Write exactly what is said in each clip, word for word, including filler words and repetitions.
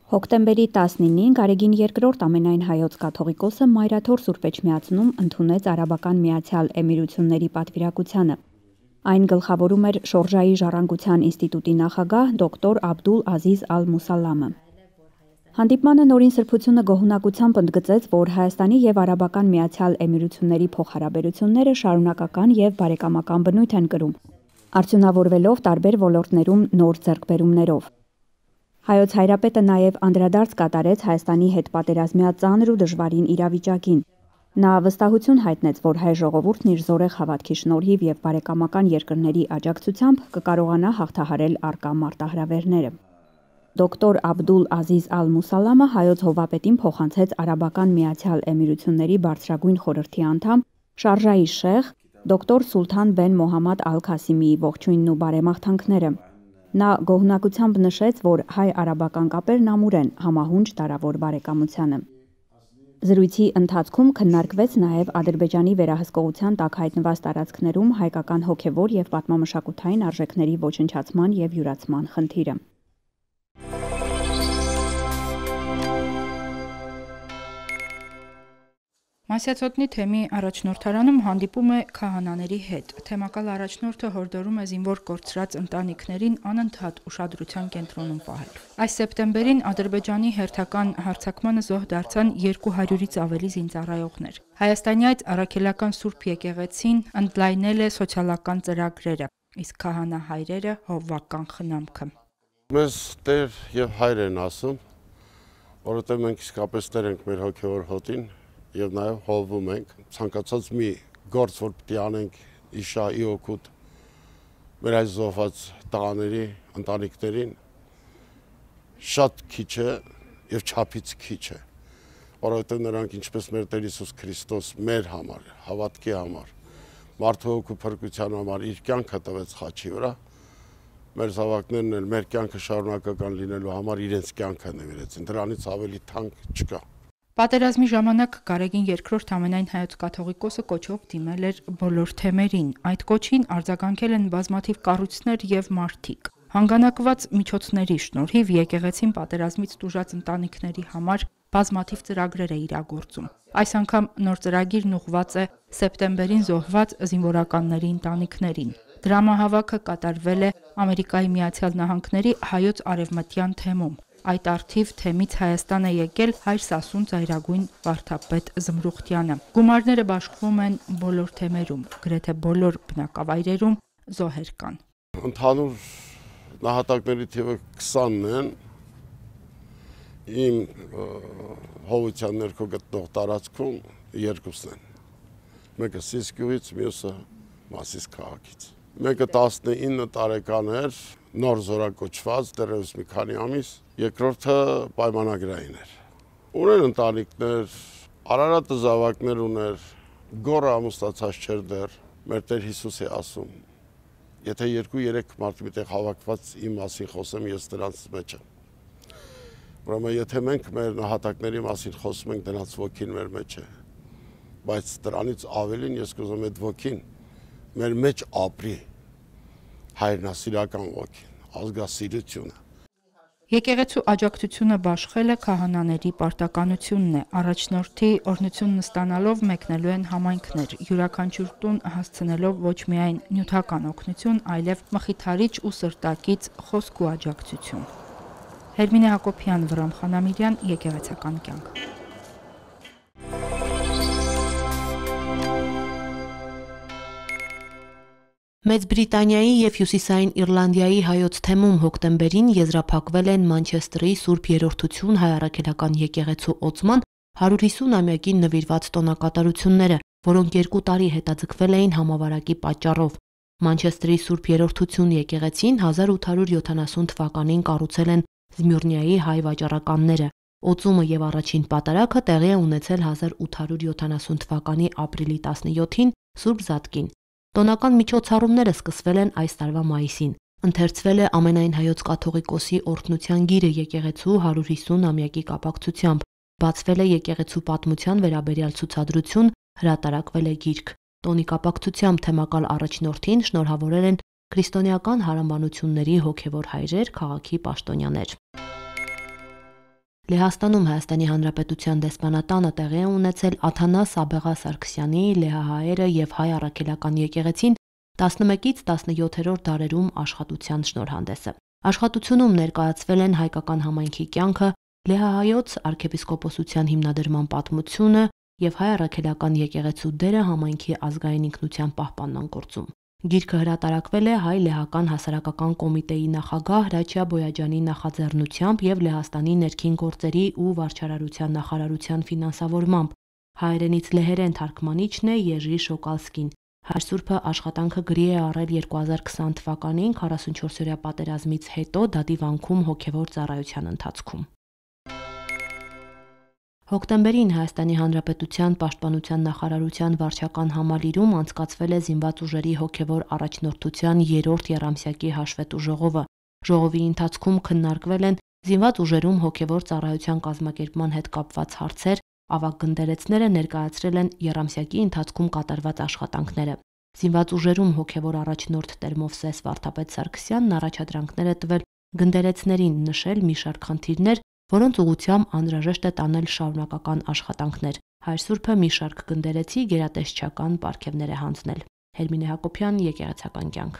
Հոկտեմբերի տասնինին Գարեգին երկրորդ ամենայն հայոց կաթողիկոսը Մայրաթոր Սուրբ Էջմիածնում ընդունեց Արաբական Միացյալ Էմիրությունների պատվիրակությանը։ Այն գլխավորում էր Շորժայի ժառանգության ինստիտուտի նախագահ դոկտոր Աբդուլ Ազիզ Ալ-Մուսալամը։ Հանդիպմանը նորին սրբությունը գոհունակությամբ ընդգծեց, որ Հայաստանի և Արաբական Միացյալ Էմիրությունների փոխհարաբերությունները շարունակական և բարեկամական բնույթ են կրում, արդյունավորվելով տարբեր ոլորտներում նոր ձեռքբերումներով։ Հայոց Հայրապետը նաև անդրադարձ կատարեց Հայաստանի հետ պատերազմյա ծանր ու դժվարին իրավիճակին։ Նա վստահություն հայտնեց, որ հայ ժողովուրդն իր զորեղ հավատքի շնորհիվ և բարեկամական երկրների աջակցությամբ կկարողանա հաղթահարել առկա մարտահրավերները։ Դոկտոր Աբդուլ Ազիզ Ալ-Մուսալամը հայոց հովվապետին փոխանցեց Արաբական Միացյալ Էմիրությունների բարձրագույն խորհրդի անդամ Շարժայի շեխ դոկտոր Սուլթան բեն Մոհամմադ Ալ-Քասիմիի ողջույնն ու բարեմաղթանքները։ Նա գոհունակությամբ նշեց, որ հայ-արաբական կապերն ամուր են, համահունչ դարավոր բարեկամությանը։ Զրույցի ընթացքում քննարկվեց նաև Ադրբեջանի վերահսկողության տակ հայտնված տարածքներում հայկական հոգևոր և պատմամշակութային արժեքների ոչնչացման և յուրացման խնդիրը։ Մասյացոտնի թեմի առաջնորդարանում հանդիպում է քահանաների հետ։ Թեմակալ առաջնորդը հորդորում է զինվոր կորցրած ընտանիքներին անընդհատ ուշադրության կենտրոնում պահել։ Այս սեպտեմբերին Ադրբեջանի հերթական հարձակմանը զոհ դարձան երկու հարյուրից ավելի զինծառայողներ։ Հայաստանի այդ առաքելական Սուրբ եկեղեցին ընդլայնել է սոցիալական ծրագրերը, իսկ քահանա հայրերը հովվական խնամքը։ Մեզ Տեր և Հայր են ասում, որովհետև մենք իսկապես Տեր ենք մեր հոգևոր հոտին և նաև հովվում ենք, ցանկացած մի գործ, որ պիտի անենք իշայի օգուտ մեր այս զոհված տղաների, ընտանիքներին, շատ քիչ է և չափից քիչ է, որովհետև նրանք ինչպես մեր Տեր Հիսուս Քրիստոս մեր համար, հավատքի համար, մարդու հոգու փրկության համար իր կյանքը տվեց խաչի վրա, մեր զավակներն էլ մեր կյանքը շարունակական լինելու համար իրենց կյանքը նվիրեցին, դրանից ավելի թանկ չկա։ Պատերազմի ժամանակ Գարեգին երկրորդ ամենայն հայոց կաթողիկոսը կոչով դիմել էր բոլոր թեմերին։ Այդ կոչին արձագանքել են բազմաթիվ կառույցներ և մարդիկ։ Հանգանակված միջոցների շնորհիվ եկեղեցին պատերազմից տուժած ընտանիքների համար բազմաթիվ ծրագրեր է իրագործում։ Այս անգամ նոր ծրագիրն ուղղված է սեպտեմբերին զոհված զինվորականների ընտանիքներին։ Դրամահավաքը կատարվել է Ամերիկայի Միացյալ Նահանգների հայոց արևմտյան թեմում։ Այդ առթիվ թեմից Հայաստան է եկել հայր Սասուն ծայրագույն վարդապետ Զմրուխտյանը։ Գումարները բաշխվում են բոլոր թեմերում, գրեթե բոլոր բնակավայրերում զոհեր կան։ Ընդհանուր նահատակների թիվը քսանն են, իմ հովության ներքո գտնող տարածքում երկուսն են։ Մեկը Սիսկյուից, մյուսը Մասիս քաղաքից։ Մեկը տասնինը տարեկան էր, նոր զորակոչված, դեռևս մի քանի ամիս, երկրորդը պայմանագրային էր։ Ուներ ընտանիքներ, Արարատը զավակներ ուներ, գոռը ամուսնացած չէր դեռ, մեր Տեր Հիսուս է ասում, եթե երկու-երեք մարդ միտեղ հավաքված իմ մասին խոսեմ, ես դրանց մեջ եմ։ Ուրեմն եթե մենք մեր նահատակների մասին խոսում ենք, դրանց ոգին մեր մեջ է, բայց դրանից ավելին ես կուզում եմ այդ ոգին մեր մեջ ապրի, հայրենասիրական ոգին, ազգասիրությունը։ Եկեղեցու աջակցությունը բաշխել է քահանաների պարտականությունն է։ Առաջնորդի օրհնությունն ստանալով մեկնելու են համայնքներ, յուրաքանչյուր տուն հասցնելով ոչ միայն նյութական օգնություն, այլև մխիթարիչ ու սրտակից խոսք ու աջակցություն։ Հերմինե Հակոբյան, Վրամ Խանամիրյան, եկեղեցական կյանք։ Մեծ Բրիտանիայի և Հյուսիսային Իռլանդիայի հայոց թեմում հոկտեմբերին եզրափակվել են Մանչեսթերի Սուրբ Երրորդություն հայ առաքելական եկեղեցու օծման հարյուր հիսուն-ամյակին նվիրված տոնակատարությունները, որոնք երկու տարի հետաձգվել էին համավարակի պատճառով։ Մանչեսթերի Սուրբ Երրորդություն եկեղեցին հազար ութ հարյուր յոթանասուն թվականին կառուցել են Զմյուրնիայի հայ վաճառականները։ Օծումը և առաջին պատարագը տեղի է ունեցել հազար ութ հարյուր յոթանասուն թվականի ապրիլի տասնյոթին Սուրբ Զատկին։ Տոնական միջոցառումները սկսվել են այս տարվա մայիսին։ Ընթերցվել է ամենայն հայոց կաթողիկոսի օրհնության գիրը եկեղեցու հարյուր հիսուն-ամյակի կապակցությամբ, բացվել է եկեղեցու պատմության վերաբերյալ ցուցադրություն, հրատարակվել է գիրք։ Տոնի կապակցությամբ թեմակալ առաջնորդին շնորհավորել են քրիստոնեական հարանմանությունների հոգևոր հայրեր, քաղաքի պաշտոնյաներ։ Լեհաստանում Հայաստանի Հանրապետության դեսպանատանը տեղի է ունեցել Աթանաս Աբեղա Սարգսյանի լեհահայերը եւ հայ առաքելական եկեղեցին տասնմեկից տասնյոթերորդ դարերում աշխատության շնորհանդեսը։ Աշխատությունում ներկայացվել են հայկական համայնքի կյանքը, լեհահայոց arczepiskoposության հիմնադրման պատմությունը եւ հայ առաքելական եկեղեցու դերը համայնքի ազգային ինքնության պահպանման գործում։ Գիրքը հրատարակվել է հայ-լեհական հասարակական կոմիտեի նախագահ Հրաչյա Բոյաջյանի նախաձեռնությամբ եւ Լեհաստանի ներքին գործերի ու վարչարարության նախարարության ֆինանսավորմամբ։ Հայերենից լեհերեն թարգմանիչն է Եժի Շոկալսկին։ Հայ Սուրբը աշխատանքը գրի է առել երկու հազար քսան թվականին քառասունչորսօրյա պատերազմից հետո Դադի վանքում հոգևոր ծառայության ընթացքում։ Հոկտեմբերին Հայաստանի Հանրապետության Պաշտպանության նախարարության վարչական համալիրում անցկացվել է զինված ուժերի հոգևոր առաջնորդության երրորդ եռամսյակի հաշվետու ժողովը։ Ժողովի ընթացքում քննարկվել են զինված ուժերում հոգևոր ծառայության կազմակերպման հետ կապված հարցեր, ավագ գնդերեցները ներկայացրել են եռամսյակի ընթացքում կատարված աշխատանքները։ Զինված ուժերում հոգևոր առաջնորդ Տեր-Մովսես Վարդապետ Սարգսյանն առաջադրանքներ է տվել գնդերեցներին նշել մի շարք խնդիրներ, որոնց ուղղությամբ անհրաժեշտ է տանել շարունակական աշխատանքներ։ Հայ Սուրբը մի շարք գնդերեցի գերատեսչական պարգևներ է հանձնել։ Հերմինե Հակոբյան, Եկեղեցական կյանք։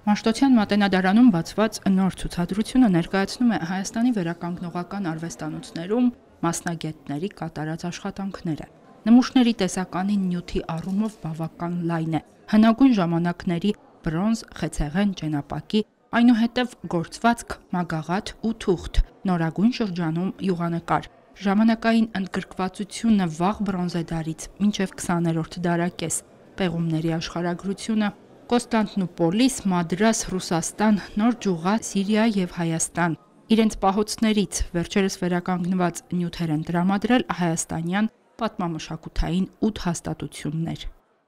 Մաշտոցյան մատենադարանում բացված նոր ցուցադրությունը ներկայացնում է Հայաստանի վերականգնողական արվեստանոցներում մասնագետների կատարած աշխատանքները։ Նմուշների տեսականին նյութի առումով բավական լայն է։ Հնագույն ժամանակների բրոնզ, խեցեղեն, ճենապակի, այնուհետև գործվածք, մագաղաթ ու թուղթ, նորագույն շրջանում յուղանկար։ Ժամանակային ընդգրկվածությունը վաղ բրոնզեդարից մինչև քսաներորդ դարակես, պեղումների աշխարհագրությունը Կոստանդնուպոլիս, Մադրաս, Ռուսաստան, Նոր Ջուղա, Սիրիա եւ Հայաստան։ Իրենց պահոցներից վերջերս վերականգնված նյութեր են տրամադրել հայաստանյան պատմամշակութային ութ հաստատություններ։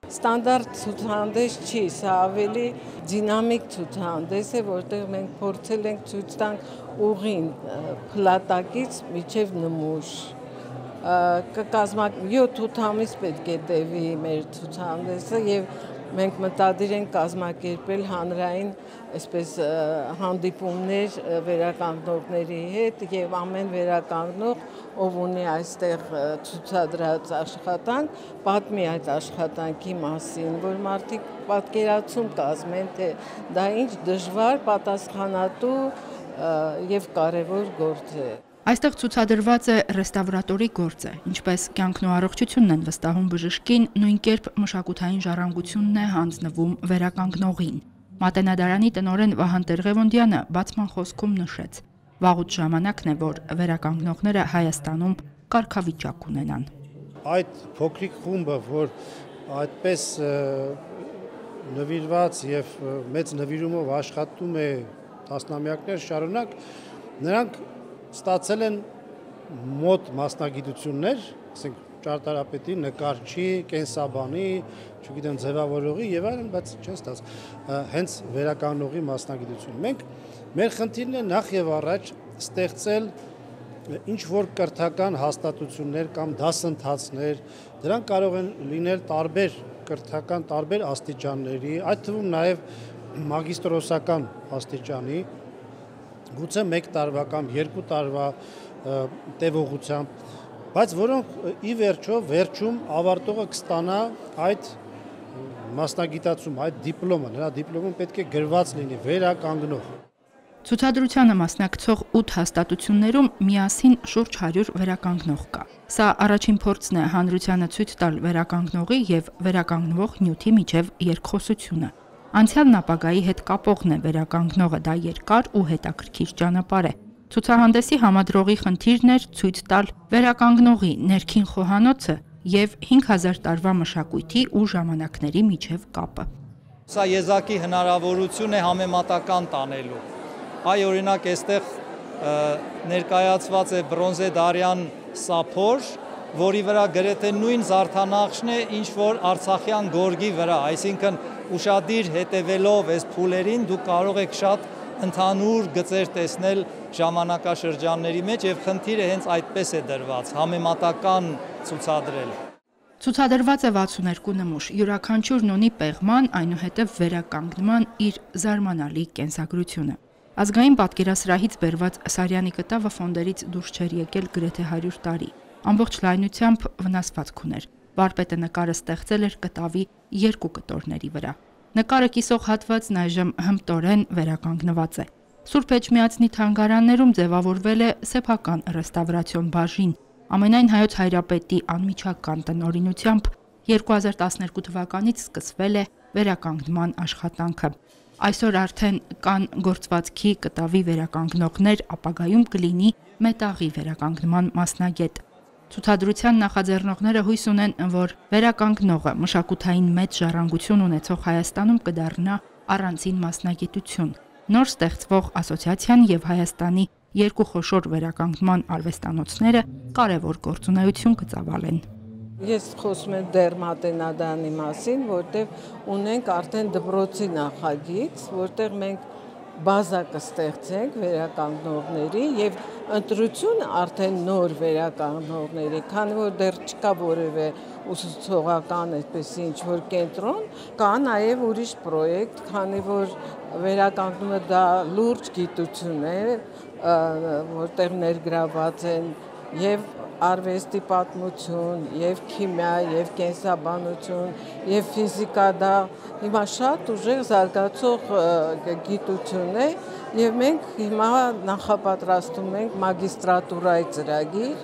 Ստանդարտ ցուցահանդես չի, սա ավելի դինամիկ ցուցահանդես է, որտեղ մենք փորձել ենք ցույց տանք ուղին փլատակից մինչև նմուշ։ Կկազմակ յոթ ամիս պետք է տևի մեր ցուցահանդեսը եւ մենք մտադիր ենք կազմակերպել հանրային այսպես հանդիպումներ վերականգնողների հետ եւ ամեն վերականգնող ով ունի այստեղ ցուցադրած աշխատանք, պատմի այդ աշխատանքի մասին, որ մարդիկ պատկերացում կազմեն, թե դա ինչ դժվար, պատասխանատու եւ կարեւոր գործ է։ Այստեղ ցուցադրված է ռեստավրատորի գործը, ինչպես կյանքն ու առողջությունն են վստահում բժշկին, նույն կերպ մշակութային ժառանգությունն է հանձնվում վերականգնողին։ Մատենադարանի տնօրեն Վահան Տեր-Ղևոնդյանը բացման խոսքում նշեց. վաղուց ժամանակն է, որ վերականգնողները Հայաստանում կարգավիճակ ունենան։ Այդ փոքրիկ խումբը, որ այդպես նվիրված եւ մեծ նվիրումով աշխատում է տասնամյակներ շարունակ, նրանք ստացել են մոտ մասնագիտություններ, ասենք ճարտարապետի, նկարչի, կենսաբանի, չգիտեմ, ձևավորողի եւ այլն, բայց չեն ստացել հենց վերականգնողի մասնագիտություն։ Մենք մեր խնդիրն է նախ եւ առաջ ստեղծել ինչ որ կրթական հաստատություններ կամ դասընթացներ, դրանք կարող են լինել տարբեր կրթական տարբեր աստիճանների, այդ թվում նաեւ մագիստրոսական աստիճանի, գուցե մեկ տարվա կամ երկու տարվա տևողությամբ, բայց որոնք ի վերջո վերջում ավարտողը կստանա այդ մասնագիտացում, այդ դիպլոմը, նրա դիպլոմը պետք է գրված լինի վերականգնող։ Ցուցադրությանը մասնակցող ութ հաստատություններում միասին շուրջ հարյուր վերականգնող կա։ Սա առաջին փորձն է հանրությանը ցույց տալ վերականգնողի եւ վերականգնվող նյութի միջև երկխոսությունը։ Անցյալն ապագայի հետ կապողն է վերականգնողը, դա երկար ու հետաքրքիր ճանապարհ է։ Ցուցահանդեսի համադրողի խնդիրն էր ցույց տալ վերականգնողի ներքին խոհանոցը եւ հինգ հազար տարվա մշակույթի ու ժամանակների միջև կապը։ Սա եզակի հնարավորություն է համեմատական տանելու։ Այ օրինակ այստեղ ներկայացված է բրոնզեդարյան սափոր, որի վրա գրեթե նույն զարդանախշն է, ինչ որ Արցախյան գորգի վրա, այսինքն ուշադիր հետևելով այս փուլերին դուք կարող եք շատ ընդհանուր գծեր տեսնել ժամանակաշրջանների մեջ եւ խնդիրը հենց այդպես է դրված, համեմատական ցուցադրել։ Ցուցադրված է վաթսուներկու նմուշ, յուրաքանչյուրն ունի պեղման, այնուհետև վերականգնման իր զարմանալի կենսագրությունը։ Ազգային պատկերասրահից բերված Սարյանի կտավը ֆոնդերից դուրս չէր եկել գրեթե հարյուր տարի։ Ամբողջ լայնությամբ վնասվածք ուներ։ Վարպետը նկարը ստեղծել էր կտավի երկու կտորների վրա։ Նկարը կիսող հատվածն այժմ հմտորեն վերականգնված է։ Սուրբ Էջմիածնի թանգարաններում ձևավորվել է սեփական ռեստավրացիոն բաժին։ Ամենայն հայոց հայրապետի անմիջական տնօրինությամբ երկու հազար տասներկու թվականից սկսվել է վերականգնման աշխատանքը։ Այսօր արդեն կան գործվածքի կտավի վերականգնողներ, ապագայում կլինի մետաղի վերականգնման մասնագետ։ Ցուցադրության նախաձեռնողները հույս ունեն, որ վերականգնողը մշակութային մեծ ժառանգություն ունեցող Հայաստանում կդառնա առանցին մասնագիտություն։ Նոր ստեղծվող ասոցիացիան եւ Հայաստանի երկու խոշոր վերականգնման արվեստանոցները կարևոր գործունեություն կծավալեն։ Ես խոսում եմ դերմատենադանի մասին, որտեղ ունենք արդեն դպրոցի նախագիծ, որտեղ մենք բազա կստեղծենք վերականգնողների եւ ընտրություն արդեն նոր վերականգնողների, քանի որ դեռ չկա որևէ ուսուցողական այդպես ինչ որ կենտրոն, կա նաեւ ուրիշ պրոյեկտ, քանի որ վերականգնումը դա լուրջ գիտություն է, որտեղ ներգրաված են եւ արվեստի պատմություն, եւ քիմիա, եւ կենսաբանություն, եւ ֆիզիկա, դա հիմա շատ ուժեղ զարգացող գիտություն է, եւ մենք հիմա նախապատրաստում ենք մագիստրատուրայի ծրագիր,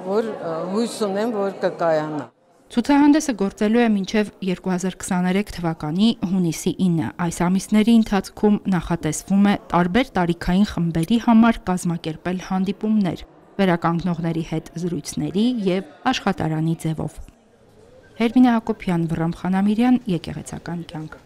որ հույս ունեմ, որ կկայանա։ Ցուցահանդեսը գործելու է մինչև երկու հազար քսաներեք թվականի հունիսի ինը։ Այս ամիսների ընթացքում նախատեսվում է տարբեր տարիքային խմբերի համար կազմակերպել հանդիպումներ, վերականգնողների հետ զրույցների եւ աշխատարանի ձևով։ Հերմինե Հակոբյան, Վռամ Խանամիրյան, Եկեղեցական կյանք։